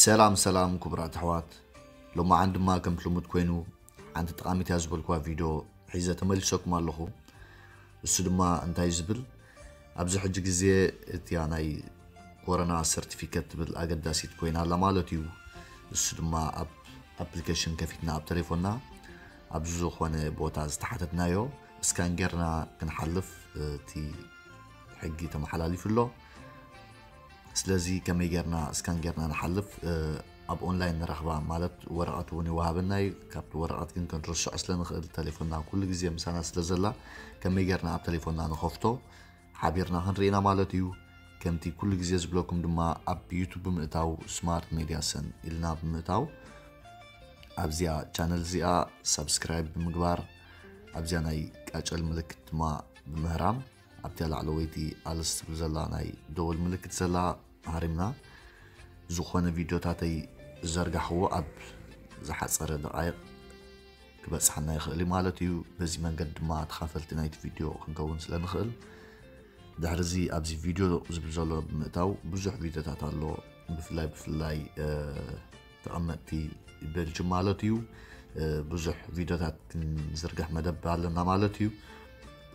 ሰላም ሰላም ክቡራት ኣሕዋት፣ ሎማዓን ድማ ከምቲ ልሙድ ኮይኑ ሓንቲ ጠቓሚት እያ ዝበልኩዋ ቪድዮ ሒዘ ተመሊሰኩም ኣለኹ። እሱ ድማ እንታይ ዝብል፣ ኣብዚ ሕጂ ግዜ እቲያ ናይ ኮሮና ሰርቲፊኬት ትብል ኣገዳሲት ኮይና ኣላ ማለት እዩ። እሱ ድማ ኣብ ኣፕሊኬሽን ከፊትና ኣብ ተሌፎንና ኣብ ዝኾነ ቦታ ዝተሓተትናዮ ስካን ጌርና ክንሓልፍ እቲ ሕጊ ተመሓላሊፉ ኣሎ። ስለዚ ከመይ ጌርና ስካን ጌርና ንሓልፍ? ኣብ ኦንላይን ንረኽባ ማለት ወረቐት እውን ይወሃበና እዩ። ካብቲ ወረቐት ግን ክንርስዖ ስለ ንኽእል ተሌፎንና ኩሉ ግዜ ምሳና ስለ ዘላ ከመይ ጌርና ኣብ ተሌፎንና ንኸፍቶ ሓቢርና ክንርኢና ማለት እዩ። ከምቲ ኩሉ ግዜ ዝብለኩም ድማ ኣብ ዩቱብ ብምእታው ስማርት ሜድያ ሰን ኢልና ብምእታው ኣብዚኣ ቻነል እዚኣ ሳብስክራይብ ብምግባር ኣብዚኣ ናይ ቃጨል ምልክት ድማ ብምህራም ኣብቲ ላዕለወይቲ ኣልስ ትብል ዘላ ናይ ደወል ምልክት ዘላ ሃሪምና ዝኾነ ቪድዮታተይ ዝዘርጋሕዎ ኣብ ዝሓፀረ ደቃይቕ ክበፅሓና ይኽእል እዩ ማለት እዩ። በዚ መንገዲ ድማ ተኻፈልቲ ናይቲ ቪድዮ ክንከውን ስለ ንኽእል ድሕሪ እዚ ኣብዚ ቪድዮ ዝብል ዘሎ ብምእታው ብዙሕ ቪድዮታት ኣሎ። ብፍላይ ብፍላይ ተቐመጥቲ ቤልጅም ማለት እዩ ብዙሕ ቪድዮታት ክንዝርግሕ መደብ ኣለና ማለት እዩ።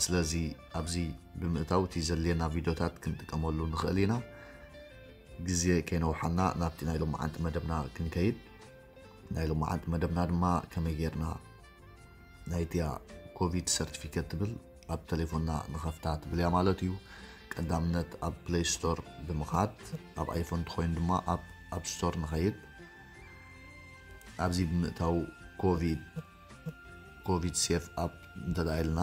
ስለዚ ኣብዚ ብምእታው እቲ ዘድልየና ቪድዮታት ክንጥቀመሉ ንኽእል ኢና። ግዜ ከይነውሓና ናብቲ ናይ ሎማዓንቲ መደብና ክንከይድ። ናይ ሎማዓንቲ መደብና ድማ ከመይ ጌርና ናይቲያ ኮቪድ ሰርቲፊኬት ትብል ኣብ ተሌፎንና ንኸፍታ ትብል እያ ማለት እዩ። ቀዳምነት ኣብ ፕሌይ ስቶር ብምኻድ፣ ኣብ ኣይፎን እንተኾይኑ ድማ ኣብ ኣፕ ስቶር ንኸይድ። ኣብዚ ብምእታው ኮቪድ ኮቪድ ሴፍ ኣፕ እንተደኣ ኢልና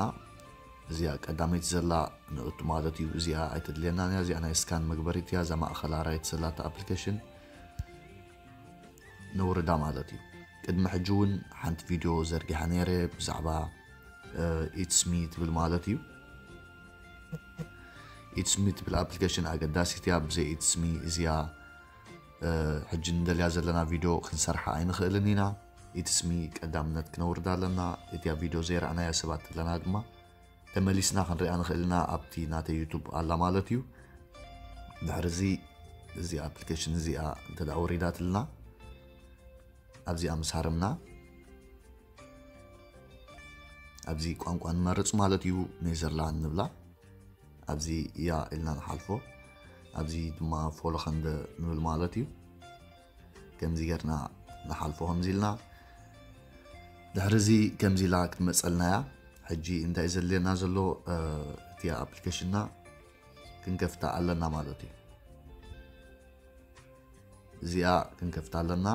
እዚኣ ቀዳመይቲ ዘላ ንእቱ ማለት እዩ። እዚኣ ኣይተድልየናን እያ። እዚኣ ናይ ስካን መግበሪት እያ። እዛ ማእኸላ ራይት ዘላታ ኣፕሊኬሽን ነውርዳ ማለት እዩ። ቅድሚ ሕጂ እውን ሓንቲ ቪድዮ ዘርጊሓ ነይረ ብዛዕባ ኢትስሚ ትብል ማለት እዩ። ኢትስሚ ትብል ኣፕሊኬሽን ኣገዳሲት እያ። ብዘይ ኢትስሚ እዚኣ ሕጂ ንደልያ ዘለና ቪድዮ ክንሰርሓ ኣይንኽእልን ኢና። ኢትስሚ ቀዳምነት ክነውርዳ ኣለና። እቲያ ቪድዮ ዘይረኣናያ ሰባት ኣለና ድማ ተመሊስና ክንሪኣ ንኽእል ኢና። ኣብቲ ናተይ ዩቱብ ኣላ ማለት እዩ። ድሕሪ እዚ እዚ ኣፕሊኬሽን እዚኣ እንተ ደኣ ወሪዳትልና ኣብዚኣ ምስ ሃረምና ኣብዚ ቋንቋ ንመርጽ ማለት እዩ። ኔዘርላንድ ንብላ። ኣብዚ እያ ኢልና ንሓልፎ። ኣብዚ ድማ ፎሎ ኸንደ ንብል ማለት እዩ። ከምዚ ጌርና ንሓልፎ ከምዚ ኢልና። ድሕሪ እዚ ከምዚ ኢላ ክትመጸልና እያ። ሕጂ እንታይ ዘድልየና ዘሎ እቲ ኣፕሊኬሽንና ክንከፍታ ኣለና ማለት እዩ። እዚኣ ክንከፍታ ኣለና።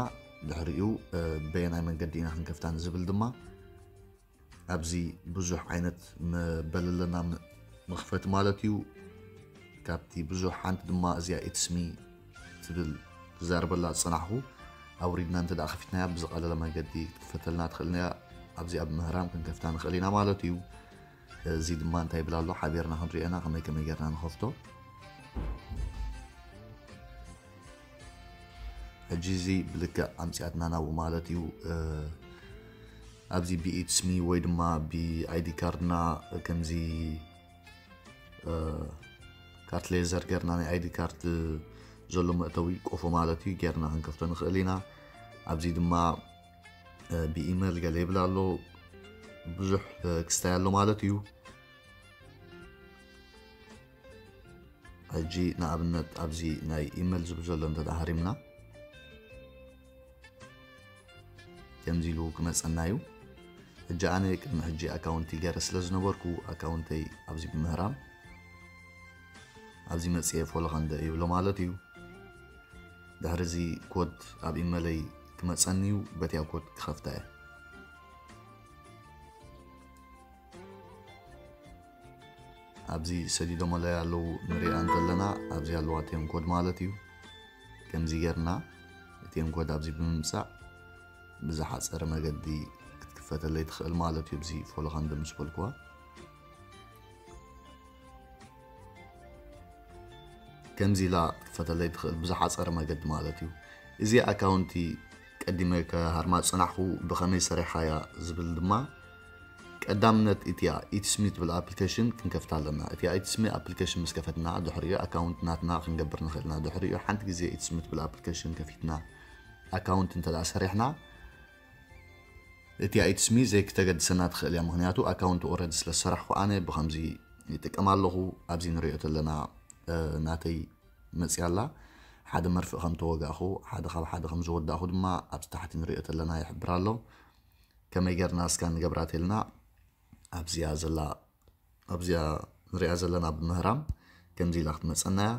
ድሕሪኡ በየናይ መንገዲ ኢና ክንከፍታ ንዝብል ድማ ኣብዚ ብዙሕ ዓይነት መበል ኣለና። መኽፈቲ ማለት እዩ። ካብቲ ብዙሕ ሓንቲ ድማ እዚኣ ኢትስሚ ትብል ክዛረበላ ዝጸናሕኩ ኣውሪድና እንተ ደኣ ከፊትናያ ብዝቐለለ መንገዲ ክትክፈተልና ትኽእልና እያ። ኣብዚኣ ብምህራም ክንከፍታ ንኽእል ኢና ማለት እዩ። እዚ ድማ እንታይ ይብል ኣሎ ሓቢርና ክንሪኦ ኢና ከመይ ከመይ ጌርና ንኸፍቶ። ሕጂ እዚ ብልክዕ ኣምጺኣትና ናብኡ ማለት እዩ። ኣብዚ ብኢትስሚ ወይ ድማ ብኣይዲ ካርድና ከምዚ ካርት ሌዘር ጌርና ናይ ኣይዲ ካርድ ዘሎ መእተዊ ቆፎ ማለት እዩ ጌርና ክንከፍቶ ንኽእል ኢና። ኣብዚ ድማ ብኢሜል ገለ ይብል ኣሎ። ብዙሕ ክስታይ ኣሎ ማለት እዩ። ሕጂ ንኣብነት ኣብዚ ናይ ኢሜል ዝብል ዘሎ እንተ ደኣ ሃሪምና ከምዚ ኢሉ ክመጸና እዩ። ሕጂ ኣነ ቅድሚ ሕጂ ኣካውንቲ ገይረ ስለ ዝነበርኩ ኣካውንተይ ኣብዚ ብምህራም ኣብዚ መጽየ ፎሎ ኸንደ ይብሎ ማለት እዩ። ድሕሪ እዚ ኮድ ኣብ ኢመለይ ክመጸኒ እዩ። በቲያ ኮድ ክኸፍታ እየ። ኣብዚ ሰዲዶመለይ ኣለዉ ንሪኣ እንተለና ኣብዚ ኣለዋ ቴን ኮድ ማለት እዩ። ከምዚ ጌርና ቴን ኮድ ኣብዚ ብምምጻእ ብዝሓጸረ መገዲ ክትክፈተለይ ትኽእል ማለት እዩ። ኣብዚ ፎሎ ኸንደ ምስ በልኩዋ ከምዚ ኢላ ክትክፈተለይ ትኽእል ብዝሓጸረ መገዲ ማለት እዩ። እዚ ኣካውንቲ ቀዲመ ከሃርማ ዝጸናሕኩ ብኸመይ ሰሪሓያ ዝብል ድማ ቀዳምነት እቲያ ኢትስሚ ትብል ኣፕሊኬሽን ክንከፍታ ኣለና። እቲያ ኢትስሚ ኣፕሊኬሽን ምስ ከፈትና ድሕሪኡ ኣካውንት ናትና ክንገብር ንኽእል ኢና። ድሕሪኡ ሓንቲ ግዜ ኢትስሚ ትብል ኣፕሊኬሽን ከፊትና ኣካውንት እንተ ደኣ ሰሪሕና፣ እቲኣ ኢትስሚ ዘይክተገድሰና ትኽእል እያ። ምኽንያቱ ኣካውንት ኦረዲ ስለ ዝሰራሕኩ ኣነ ብኸምዚ ይጥቀም ኣለኹ። ኣብዚ ንሪኦ ተለና ናተይ መፅያ ኣላ። ሓደ መርፍእ ከም ተወጋእኹ፣ ሓደ ካብ ሓደ ከም ዝወዳእኹ ድማ ኣብዚ ታሕቲ ንሪኦ ተለና ይሕብር ኣሎ። ከመይ ጌርና እስካ ንገብራ ተልና ኣብዚኣ ዘላ ኣብዚኣ ንሪኣ ዘለና ብምህራም ከምዚ ኢላ ክትመፀና እያ።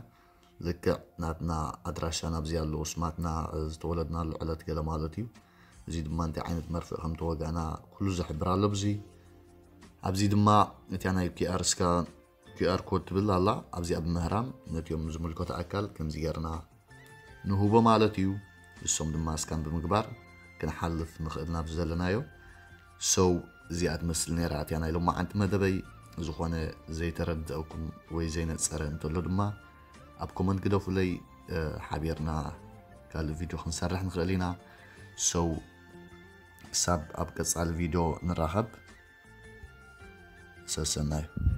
ልክዕ ናትና ኣድራሻ ናብዚ ኣሎ፣ ስማትና፣ ዝተወለድናሉ ዕለት ገለ ማለት እዩ። እዚ ድማ እንታይ ዓይነት መርፍእ ከም ተወጋእና ኩሉ ዝሕብር ኣሎ። ብዚ ኣብዚ ድማ እቲያ ናይ ኪኣር እስካ ኪኣር ኮድ ትብል ኣላ። ኣብዚኣ ብምህራም ነቲኦም ዝምልከቶ ኣካል ከምዚ ጌርና ንህቦ ማለት እዩ። እሶም ድማ እስካን ብምግባር ክንሓልፍ ንኽእል ናብ ዘለናዮ። ሰው እዚኣ ትመስል ነይራ እቲያ ናይ ሎማዓንቲ መደበይ። ዝኾነ ዘይተረድአኩም ወይ ዘይነፀረ እንተሎ ድማ ኣብ ኮመንት ግደፉለይ። ሓቢርና ካልእ ቪድዮ ክንሰርሕ ንኽእል ኢና። ሰው ክሳብ ኣብ ቀፃሊ ቪድዮ ንራኸብ። ሰሰናዩ።